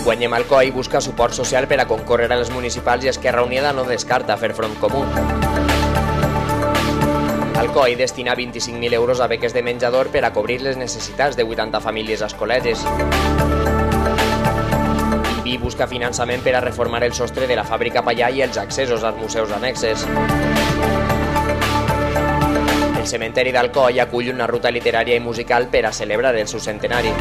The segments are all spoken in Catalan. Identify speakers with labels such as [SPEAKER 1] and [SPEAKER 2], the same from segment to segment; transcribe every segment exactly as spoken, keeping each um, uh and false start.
[SPEAKER 1] Guanyem Alcoi busca suport social per a concórrer a les municipals i Esquerra Unida no descarta fer front comú. Alcoi destina vint-i-cinc mil euros a beques de menjador per a cobrir les necessitats de vuitanta famílies escoletes. Ibi busca finançament per a reformar el sostre de la fàbrica Pallà i els accessos als museus annexes. El cementeri d'Alcoi acull una ruta literària i musical per a celebrar el seu centenari.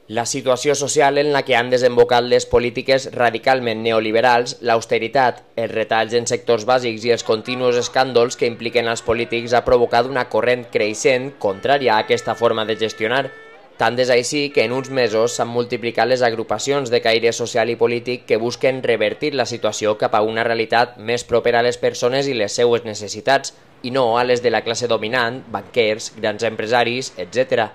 [SPEAKER 1] La situació social en la que han desembocat les polítiques radicalment neoliberals, l'austeritat, els retalls en sectors bàsics i els continus escàndols que impliquen els polítics ha provocat una corrent creixent contrària a aquesta forma de gestionar. Tant és així que en uns mesos s'han multiplicat les agrupacions de caire social i polític que busquen revertir la situació cap a una realitat més propera a les persones i les seues necessitats, i no a les de la classe dominant, banquers, grans empresaris, etcètera.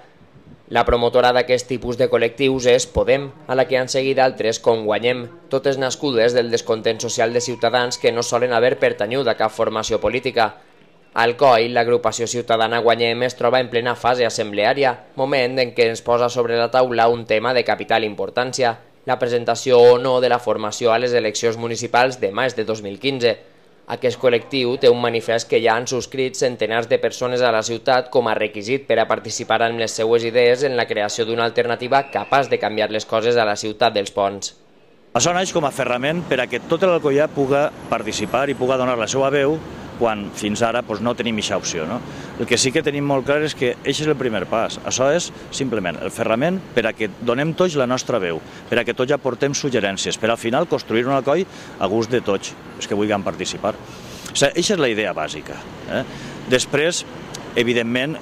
[SPEAKER 1] La promotora d'aquest tipus de col·lectius és Podem, a la que han seguit altres com Guanyem, totes nascudes del descontent social de ciutadans que no solen haver pertanyut a cap formació política. Alcoi, l'agrupació ciutadana Guanyem, es troba en plena fase assembleària, moment en què ens posa sobre la taula un tema de capital importància, la presentació o no de la formació a les eleccions municipals de maig de dos mil quinze. Aquest col·lectiu té un manifest que ja han subscrit centenars de persones a la ciutat com a requisit per a participar amb les seues idees en la creació d'una alternativa capaç de canviar les coses a la ciutat dels ponts.
[SPEAKER 2] Això naix com a ferrament per a que tot l'Alcoià puga participar i puga donar la seva veu quan fins ara doncs, no tenim aquesta opció. No? El que sí que tenim molt clar és que aquest és el primer pas. Això és simplement el ferrament per a que donem tots la nostra veu, per a que tots aportem suggerències, per al final construir un Alcoi a gust de tots els que vulguin participar. O sigui, aquesta és la idea bàsica. Eh? Després, evidentment,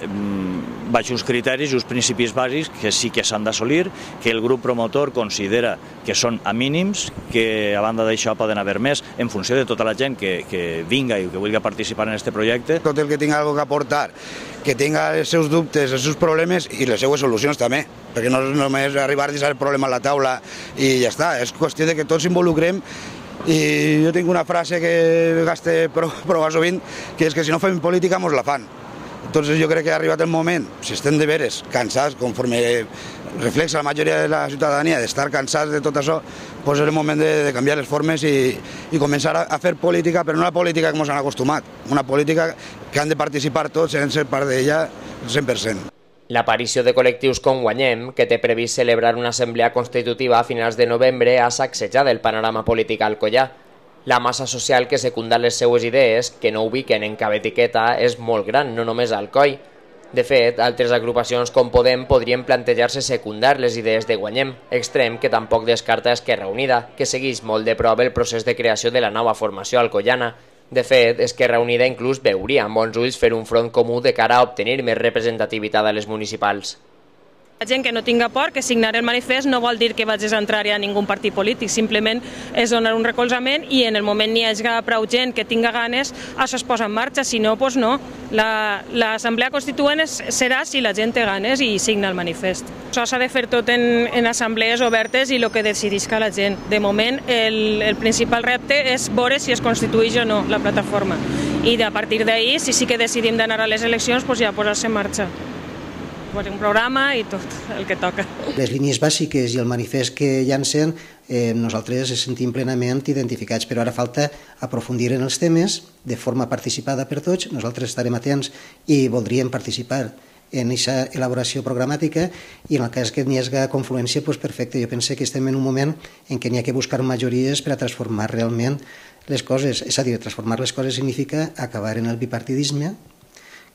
[SPEAKER 2] vaig uns criteris i uns principis bàsics que sí que s'han d'assolir, que el grup promotor considera que són a mínims, que a banda d'això poden haver més, en funció de tota la gent que, que vinga i que vulgui participar en aquest projecte.
[SPEAKER 3] Tot el que tingui alguna cosa a aportar, que tinga els seus dubtes, els seus problemes i les seues solucions també, perquè no és només arribar a deixar el problema a la taula i ja està, és qüestió de que tots involucrem. I jo tinc una frase que gaste prou sovint, que és que si no fem política mos la fan. Entonces jo crec que ha arribat el moment, si estem de veres cansats, conforme reflexa la majoria de la ciutadania, d'estar cansats de tot això, doncs és el moment de, de canviar les formes i, i començar a, a fer política, però no la política que ens han acostumat, una política que han de participar tots, en ser part d'ella al cent per cent.
[SPEAKER 1] L'aparició de col·lectius com Guanyem, que té previst celebrar una assemblea constitutiva a finals de novembre, ha sacsejat el panorama polític alcoià. La massa social que secunda les seues idees, que no ubiquen en cap etiqueta, és molt gran, no només a Alcoi. De fet, altres agrupacions com Podem podrien plantejar-se secundar les idees de Guanyem, extrem que tampoc descarta Esquerra Unida, que segueix molt de prop el procés de creació de la nova formació alcoiana. De fet, Esquerra Unida inclús veuria amb bons ulls fer un front comú de cara a obtenir més representativitat a les municipals.
[SPEAKER 4] La gent que no tinga por, que signar el manifest no vol dir que vagis a entrar a ningú partit polític, simplement és donar un recolzament i en el moment n'hi hagi prou gent que tinga ganes, això es posa en marxa, si no, doncs no. L'assemblea constituent serà si la gent té ganes i signa el manifest. Això s'ha de fer tot en, en assemblees obertes i el que decidisca la gent. De moment, el, el principal repte és veure si es constitueix o no la plataforma. I a partir d'ahir, si sí que decidim d'anar a les eleccions, doncs ja posar-se en marxa. Un programa i tot el que toca.
[SPEAKER 5] Les línies bàsiques i el manifest que llancen eh, nosaltres ens sentim plenament identificats, però ara falta aprofundir en els temes de forma participada per tots. Nosaltres estarem atents i voldríem participar en aquesta elaboració programàtica i en el cas que n'hi hagi confluència, doncs perfecte. Jo penso que estem en un moment en què n'hi ha que buscar majories per a transformar realment les coses. És a dir, transformar les coses significa acabar en el bipartidisme,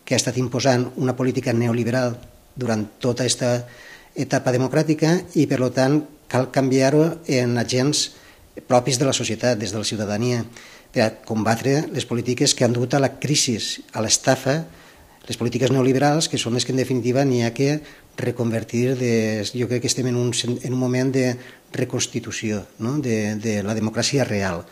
[SPEAKER 5] que ha estat imposant una política neoliberal durant tota aquesta etapa democràtica i, per tant, cal canviar-ho en agents propis de la societat, des de la ciutadania, per a combatre les polítiques que han dut a la crisi, a l'estafa, les polítiques neoliberals, que són les que, en definitiva, n'hi ha que reconvertir. De, jo crec que estem en un, en un moment de reconstitució, no? de, de la democràcia real.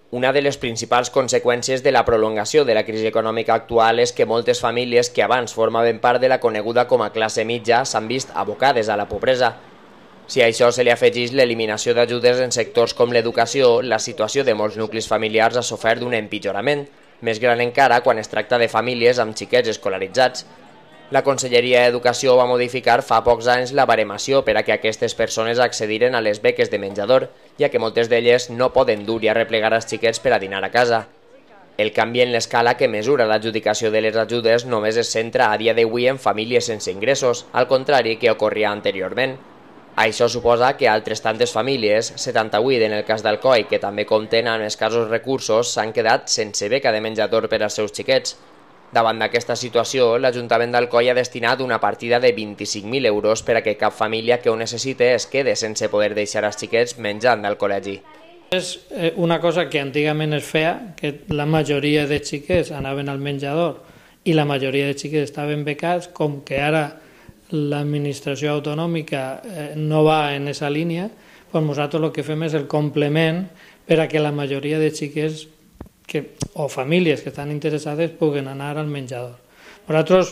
[SPEAKER 1] Una de les principals conseqüències de la prolongació de la crisi econòmica actual és que moltes famílies que abans formaven part de la coneguda com a classe mitja s'han vist abocades a la pobresa. Si a això se li afegeix l'eliminació d'ajudes en sectors com l'educació, la situació de molts nuclis familiars ha sofert d'un empitjorament, més gran encara quan es tracta de famílies amb xiquets escolaritzats. La Conselleria d'Educació va modificar fa pocs anys la baremació per a que aquestes persones accediren a les beques de menjador, ja que moltes d'elles no poden dur i arreplegar els xiquets per a dinar a casa. El canvi en l'escala que mesura l'adjudicació de les ajudes només es centra a dia d'avui en famílies sense ingressos, al contrari que ocorria anteriorment. Això suposa que altres tantes famílies, setanta-vuit en el cas d'Alcoi, que també compten amb escassos recursos, s'han quedat sense beca de menjador per als seus xiquets. Davant d'aquesta situació, l'Ajuntament d'Alcoi ha destinat una partida de vint-i-cinc mil euros per a que cap família que ho necessite es quede sense poder deixar els xiquets menjant al col·legi.
[SPEAKER 6] És una cosa que antigament es feia, que la majoria de xiquets anaven al menjador i la majoria de xiquets estaven becats, com que ara l'administració autonòmica no va en aquesta línia, doncs nosaltres el que fem és el complement per a que la majoria de xiquets que, o famílies que estan interessades puguen anar al menjador. Nosaltres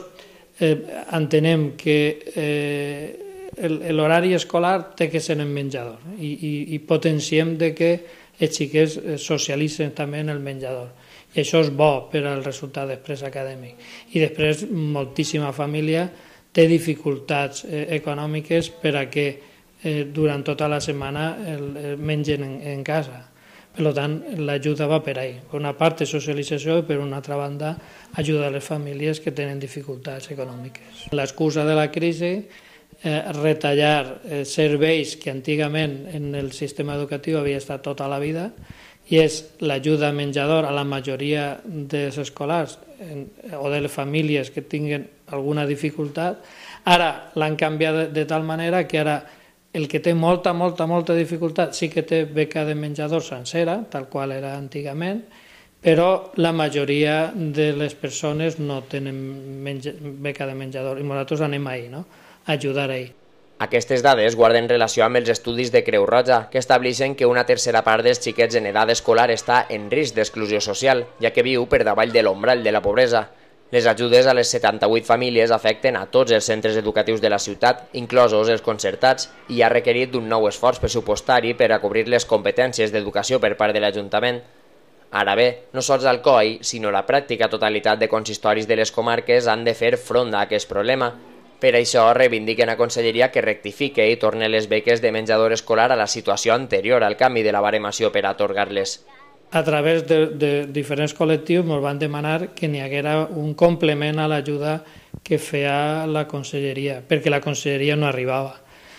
[SPEAKER 6] eh, entenem que eh, l'horari escolar té que ser en menjador i, i, i potenciem de que els xiquets socialitzen també en el menjador. I això és bo per al resultat després acadèmic. I després moltíssima família té dificultats eh, econòmiques per a que eh, durant tota la setmana el, el mengen en, en casa. Per tant, l'ajuda va per ahí. Per una part de socialització i per una altra banda ajuda a les famílies que tenen dificultats econòmiques. L'excusa de la crisi, eh, retallar eh, serveis que antigament en el sistema educatiu havia estat tota la vida, i és l'ajuda a menjador a la majoria dels escolars en, o de les famílies que tinguen alguna dificultat. Ara l'han canviat de, de tal manera que ara el que té molta, molta, molta dificultat sí que té beca de menjador sencera, tal qual era antigament, però la majoria de les persones no tenen menja, beca de menjador i nosaltres anem ahí, no? A ajudar ahí.
[SPEAKER 1] Aquestes dades guarden relació amb els estudis de Creu Roja, que estableixen que una tercera part dels xiquets en edat escolar està en risc d'exclusió social, ja que viu per davall de l'ombrall de la pobresa. Les ajudes a les setanta-vuit famílies afecten a tots els centres educatius de la ciutat, inclosos els concertats, i ha requerit d'un nou esforç pressupostari per a cobrir les competències d'educació per part de l'Ajuntament. Ara bé, no sols Alcoi, sinó la pràctica totalitat de consistoris de les comarques han de fer front a aquest problema. Per això reivindiquen a Conselleria que rectifique i torne les beques de menjador escolar a la situació anterior al canvi de la baremació per a atorgar-les.
[SPEAKER 6] A través de, de diferents col·lectius ens van demanar que n'hi haguera un complement a l'ajuda que feia la Conselleria, perquè la Conselleria no arribava.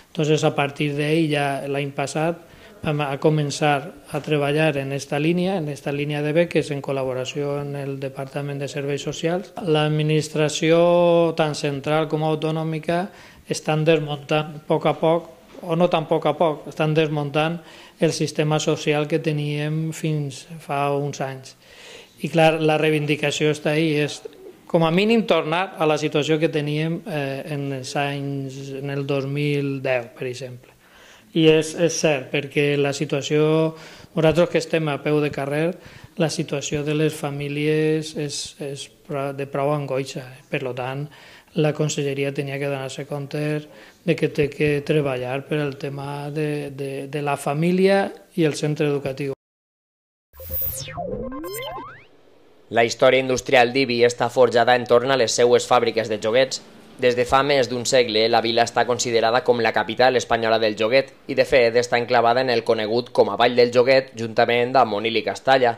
[SPEAKER 6] Entonces, a partir d'ahí, ja l'any passat, vam a començar a treballar en aquesta línia, en aquesta línia de beques, en col·laboració amb el Departament de Serveis Socials. L'administració, tant central com autonòmica, estan desmuntant a poc a poc, o no tan a poc a poc, estan desmuntant el sistema social que teníem fins fa uns anys. I clar, la reivindicació està ahí, és com a mínim tornar a la situació que teníem eh, en els anys, en el dos mil deu, per exemple. I és, és cert, perquè la situació, nosaltres que estem a peu de carrer, la situació de les famílies és, és de prou angoixa. Per tant, la Conselleria tenia que donar-se compte de que té que treballar per el tema de, de, de la família i el centre educatiu.
[SPEAKER 1] La història industrial d'Ibi està forjada entorn a les seues fàbriques de joguets. Des de fa més d'un segle, la vila està considerada com la capital espanyola del joguet i, de fet, està enclavada en el conegut com a Vall del Joguet, juntament amb Onil i Castalla.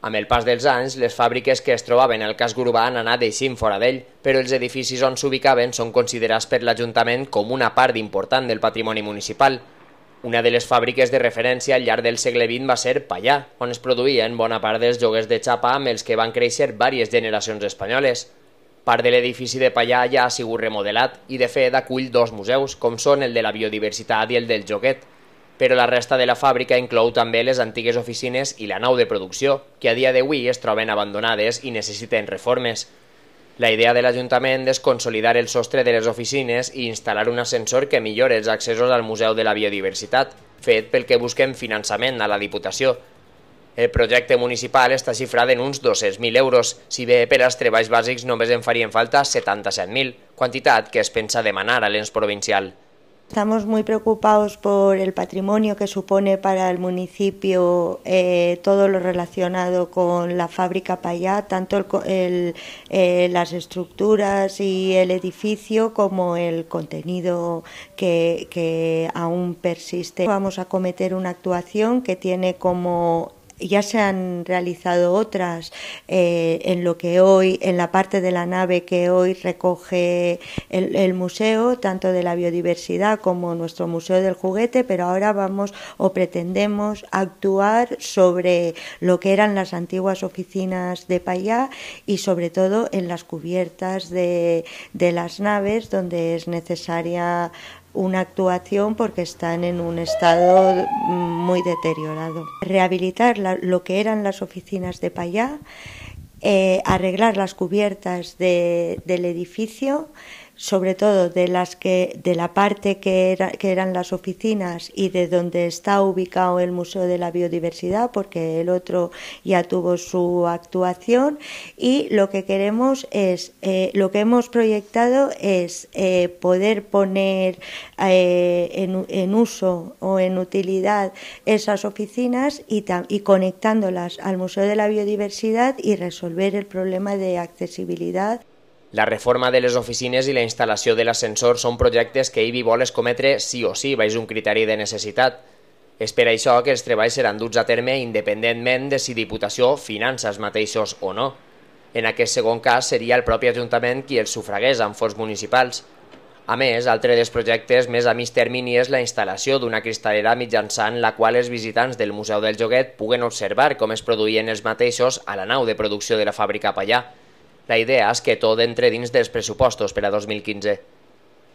[SPEAKER 1] Amb el pas dels anys, les fàbriques que es trobaven al casc urbà han anat eixint fora d'ell, però els edificis on s'ubicaven són considerats per l'Ajuntament com una part important del patrimoni municipal. Una de les fàbriques de referència al llarg del segle vint va ser Pallà, on es produïen bona part dels joguets de xapa amb els que van créixer diverses generacions espanyoles. Part de l'edifici de Pallà ja ha sigut remodelat i, de fet, acull dos museus, com són el de la biodiversitat i el del joguet, però la resta de la fàbrica inclou també les antigues oficines i la nau de producció, que a dia d'avui es troben abandonades i necessiten reformes. La idea de l'Ajuntament és consolidar el sostre de les oficines i instal·lar un ascensor que millori els accessos al Museu de la Biodiversitat, fet pel que busquen finançament a la Diputació. El projecte municipal està xifrat en uns dos-cents mil euros, si bé per als treballs bàsics només en farien falta setanta-set mil, quantitat que es pensa demanar a l'ens provincial.
[SPEAKER 7] Estamos muy preocupados por el patrimonio que supone para el municipio eh, todo lo relacionado con la fábrica Pallá, tanto el, el, eh, las estructuras y el edificio como el contenido que, que aún persiste. Vamos a cometer una actuación que tiene como... Ya se han realizado otras eh, en lo que hoy, en la parte de la nave que hoy recoge el, el museo, tanto de la biodiversidad como nuestro Museo del Juguete, pero ahora vamos o pretendemos actuar sobre lo que eran las antiguas oficinas de Pallá y sobre todo en las cubiertas de, de las naves donde es necesaria una actuación porque están en un estado muy deteriorado. Rehabilitar la, lo que eran las oficinas de Pallá, eh, arreglar las cubiertas de, del edificio, sobre todo de las que de la parte que, era, que eran las oficinas y de donde está ubicado el Museo de la Biodiversidad, porque el otro ya tuvo su actuación, y lo que queremos es, eh, lo que hemos proyectado es eh, poder poner eh, en, en uso o en utilidad esas oficinas y, y conectándolas al Museo de la Biodiversidad y resolver el problema de accesibilidad.
[SPEAKER 1] La reforma de les oficines i la instal·lació de l'ascensor són projectes que I B I vol escometre sí o sí baix un criteri de necessitat. És per això que els treballs seran duts a terme independentment de si Diputació finança els mateixos o no. En aquest segon cas seria el propi Ajuntament qui els sufragués amb fons municipals. A més, altre dels projectes més a mig termini és la instal·lació d'una cristalera mitjançant la qual els visitants del Museu del Joguet puguen observar com es produïen els mateixos a la nau de producció de la fàbrica Pallà. La idea es que todo entre dins dels pressupostos para dos mil quince.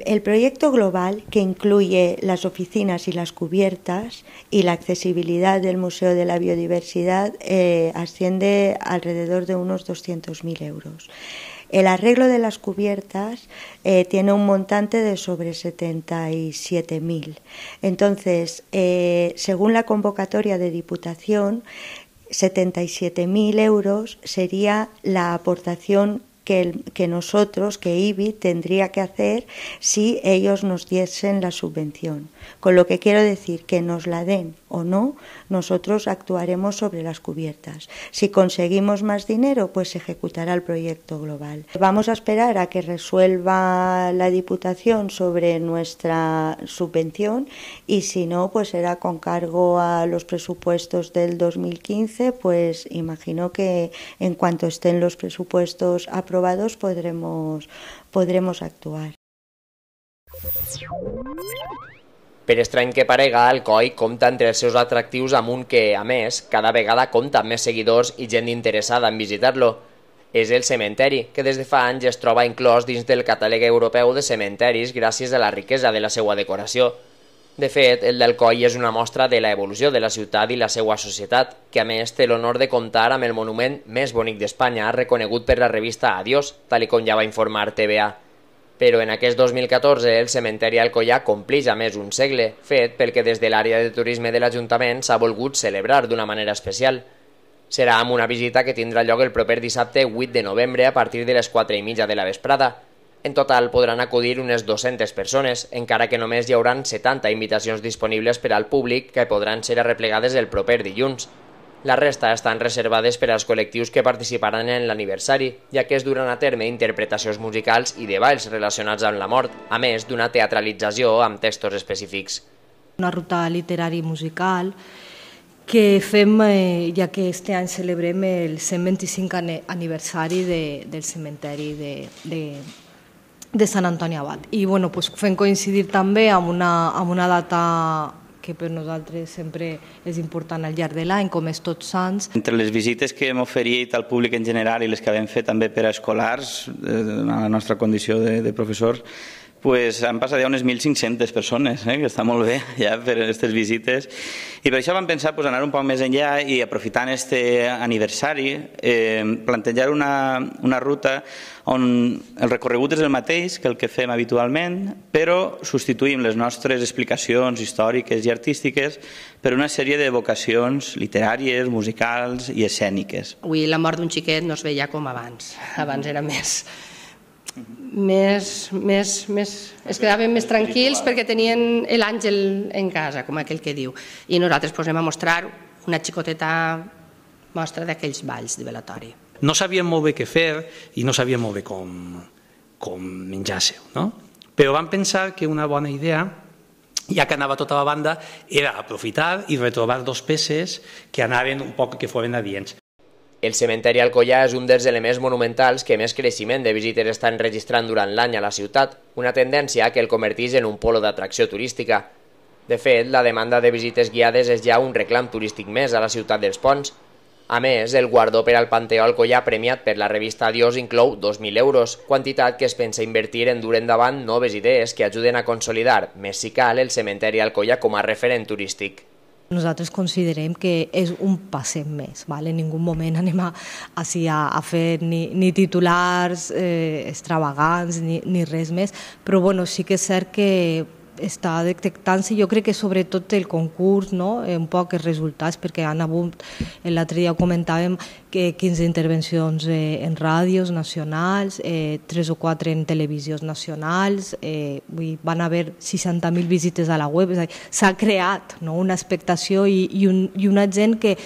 [SPEAKER 7] El proyecto global, que incluye las oficinas y las cubiertas y la accesibilidad del Museo de la Biodiversidad, eh, asciende alrededor de unos doscientos mil euros. El arreglo de las cubiertas eh, tiene un montante de sobre setenta y siete mil. Entonces, eh, según la convocatoria de Diputación, setenta y siete mil euros sería la aportación que, el, que nosotros, que I B I, tendría que hacer si ellos nos diesen la subvención. Con lo que quiero decir que nos la den o no, nosotros actuaremos sobre las cubiertas. Si conseguimos más dinero, pues se ejecutará el proyecto global. Vamos a esperar a que resuelva la Diputación sobre nuestra subvención y si no, pues será con cargo a los presupuestos del dos mil quince, pues imagino que en cuanto estén los presupuestos aprobados podremos, podremos actuar.
[SPEAKER 1] Per estrany que parega, el C O I compta entre els seus atractius amb un que, a més, cada vegada compta amb més seguidors i gent interessada en visitar-lo. És el cementeri, que des de fa anys es troba inclòs dins del catàleg europeu de cementeris gràcies a la riquesa de la seva decoració. De fet, el del C O I és una mostra de l'evolució de la ciutat i la seva societat, que a més té l'honor de comptar amb el monument més bonic d'Espanya, reconegut per la revista Adiós, tal com ja va informar T V A. Però en aquest dos mil catorze el cementeri Alcoià complix a més un segle, fet pel que des de l'àrea de turisme de l'Ajuntament s'ha volgut celebrar d'una manera especial. Serà amb una visita que tindrà lloc el proper dissabte vuit de novembre a partir de les quatre i mitja de la vesprada. En total podran acudir unes dues-centes persones, encara que només hi hauran setanta invitacions disponibles per al públic que podran ser arreplegades el proper dilluns. La resta estan reservades per als col·lectius que participaran en l'aniversari, ja que es duran a terme interpretacions musicals i de balls relacionats amb la mort, a més d'una teatralització amb textos específics.
[SPEAKER 8] Una ruta literària i musical que fem, eh, ja que este any celebrem el cent vint-i-cinc aniversari de, del cementeri de, de, de Sant Antoni Abat. I bueno, pues, fem coincidir també amb una, amb una data que per nosaltres sempre és important al llarg de l'any, com és Tots Sants.
[SPEAKER 9] Entre les visites que hem oferit al públic en general i les que hem fet també per a escolars, a la nostra condició de, de professors, Pues han passat ja unes mil cinc-centes persones, eh, que està molt bé ja per aquestes visites. I per això vam pensar pues, anar un poc més enllà i aprofitant aquest aniversari, eh, plantejar una, una ruta on el recorregut és el mateix que el que fem habitualment, però substituïm les nostres explicacions històriques i artístiques per una sèrie de vocacions literàries, musicals i escèniques.
[SPEAKER 10] Avui la mort d'un xiquet no es veia com abans. Abans era més... Més, més, més, es quedaven més tranquils perquè tenien l'àngel en casa, com aquell que diu. I nosaltres pues, anem a mostrar una xicoteta mostra d'aquells balls de velatori.
[SPEAKER 11] No sabíem molt bé què fer i no sabíem molt bé com, com menjar-se, no? Però vam pensar que una bona idea, ja que anava tota la banda, era aprofitar i retrobar dos peces que anaven un poc, que foren adients.
[SPEAKER 1] El cementeri Alcoià és un dels elements monumentals que més creixement de visites estan registrant durant l'any a la ciutat, una tendència que el converteix en un polo d'atracció turística. De fet, la demanda de visites guiades és ja un reclam turístic més a la ciutat dels Ponts. A més, el guardó per al Panteó Alcoià premiat per la revista Adiós inclou dos mil euros, quantitat que es pensa invertir en dur endavant noves idees que ajuden a consolidar, més si cal, el cementeri Alcoià com a referent turístic.
[SPEAKER 8] Nosaltres considerem que és un passet més, en ningú moment anem a, a fer ni, ni titulars eh, extravagants ni, ni res més, però bueno, sí que és cert que està detectant-se, jo crec que sobretot el concurs, no? Un poc els resultats, perquè han hagut, l'altre dia comentàvem que quinze intervencions eh, en ràdios nacionals, eh, tres o quatre en televisions nacionals, eh, van haver seixanta mil visites a la web, s'ha creat, no? Una expectació i, i, un, i una gent que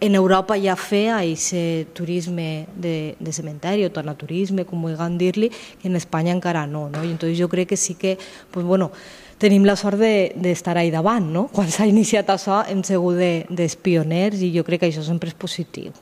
[SPEAKER 8] en Europa ja feia aquest turisme de, de cementeri o tanaturisme, com vulguin dir-li, que en Espanya encara no, no? I entonces jo crec que sí que, pues bueno, tenim la sort d'estar de, ahí davant, no? Quan s'ha iniciat això hem sigut dels pioners i jo crec que això sempre és positiu.